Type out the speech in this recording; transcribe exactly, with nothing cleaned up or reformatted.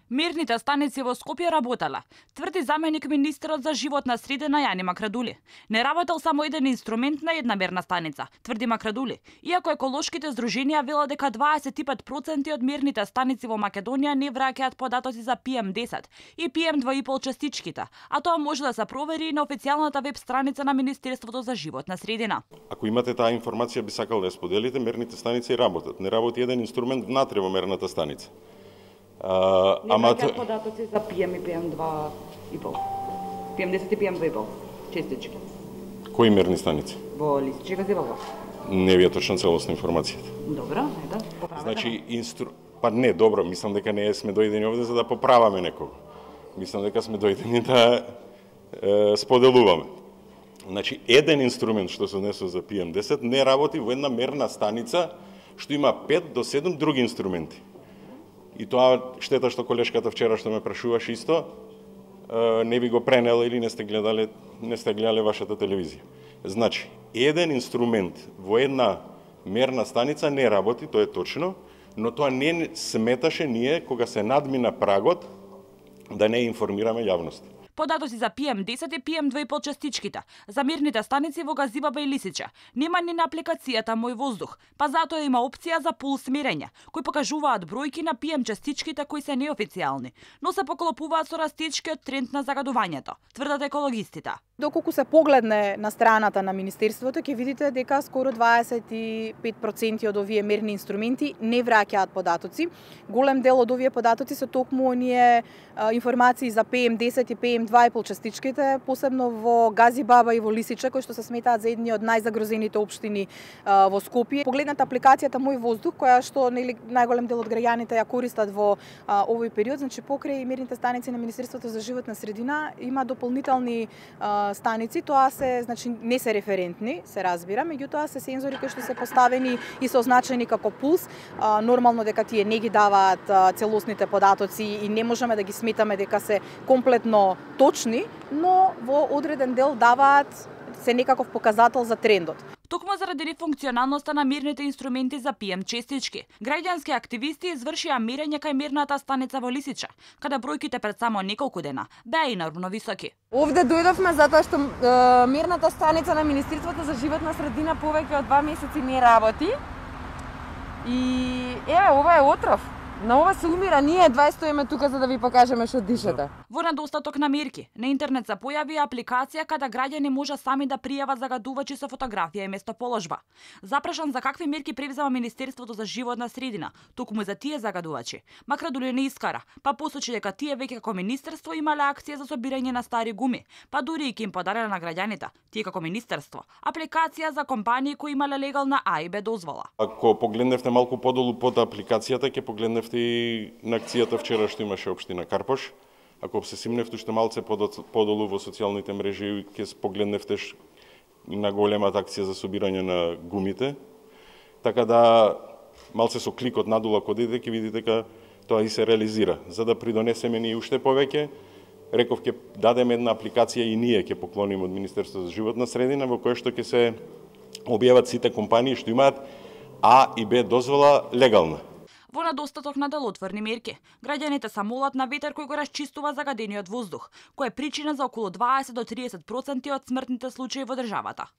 Мерните станици во Скопје работеле, тврди заменик министерот за животна средина Јани Макрадули. Не работел само еден инструмент на една мерна станица, тврди Макрадули. Иако еколошките здруженија велат дека дваесет и пет проценти од мерните станици во Македонија не враќаат податоци за Пи Ем десет и Пи Ем два и пол частичките, а тоа може да се провери и на официјалната веб страница на Министерството за животна средина. Ако имате таа информација, би сакал да ја споделите, мерните станици работат. Не работи еден инструмент внатре во мерната станица. Uh, не враќаат податоци за Пи Ем и Пи Ем два и пол. Пи Ем десет и Пи Ем два и пол. Честички. Кои мерни станици? Во Лисиче го зебава. Не ви е точно целосна информацијата. Добро, ето, поправете. Значи, инстру... па не, добро, мислам дека не сме дојдени овде за да поправаме некого. Мислам дека сме дојдени да е, споделуваме. Значи, еден инструмент што се однесува за Пи Ем десет не работи во една мерна станица што има пет до седум други инструменти. И тоа штета што колешката вчера што ме прашуваше исто, не би го пренела или не сте гледале, не сте гледале вашата телевизија. Значи, еден инструмент во една мерна станица не работи, тоа е точно, но тоа не сметаше ние кога се надмина прагот да не информираме јавност. Податоци за Пи Ем десет и Пи Ем два и пол частичките за мерните станици во Газибаба и Лисиче нема ни на апликацијата Мој воздух, па затоа има опција за пулс мерење, кои покажуваат бројки на Пи Ем частичките кои се неофицијални, но се поклопуваат со растечкиот тренд на загадувањето, тврдат екологистите. Доколку се погледне на страната на Министерството, ќе видите дека скоро дваесет и пет проценти од овие мерни инструменти не враќаат податоци. Голем дел од овие податоци се токму оние информации за Пи Ем десет и Пи Ем два и пол частичките, посебно во Газибаба и во Лисиче, кои што се сметаат за едни од најзагрозените општини а, во Скопје. Погледнете апликацијата Мој воздух, која што нели најголем дел од граѓаните ја користат во а, овој период, значи покрај мерните станици на Министерството за животна средина има дополнителни а, станици, тоа се значи не се референтни, се разбира, меѓутоа се сензори кои што се поставени и се означени како пулс. А, нормално дека тие не ги даваат а, целосните податоци и не можеме да ги сметаме дека се комплетно точни, но во одреден дел даваат се некаков показател за трендот. Токму заради нефункционалноста на мерните инструменти за Пи Ем частички, граѓански активисти извршија мерење кај мерната станица во Лисиче, каде бројките пред само неколку дена беа инормно високи. Овде дојдовме затоа што е, мерната станица на Министерството за животна средина повеќе од два месеци не работи. И еве, ова е отров. На ова се умира, ние едва стоиме тука за да ви покажеме што дишете. Во недостаток на мерки, на интернет се појави апликација каде граѓани може сами да пријават загадувачи со фотографија и местоположба. Запрашан за какви мерки превзема Министерството за животна средина, токму за тие загадувачи, Макрадули не искара, па посочи дека тие веќе како министерство имале акција за собирање на стари гуми, па дури и ќе им подареле на граѓаните, тие како министерство, апликација за компании кои имале легална А и Б дозвола. Ако погледневте малку подолу под апликацијата, ќе погледневте и на акцијата вчера што имаше општина Карпош. Ако се симневте уште малце подолу во социјалните мрежи, ќе погледневте на големата акција за собирање на гумите. Така да, малце со кликот надола кога идете, ќе видите дека тоа и се реализира. За да придонесеме ни уште повеќе, реков ќе дадеме една апликација и ние ќе поклониме од Министерството за животна средина, во која што ќе се објават сите компании што имаат А и Б дозвола легална. Во недостаток на делотворни мерки, граѓаните се молат на ветер кој го расчистува загадениот воздух, кој е причина за околу дваесет до триесет проценти од смртните случаи во државата.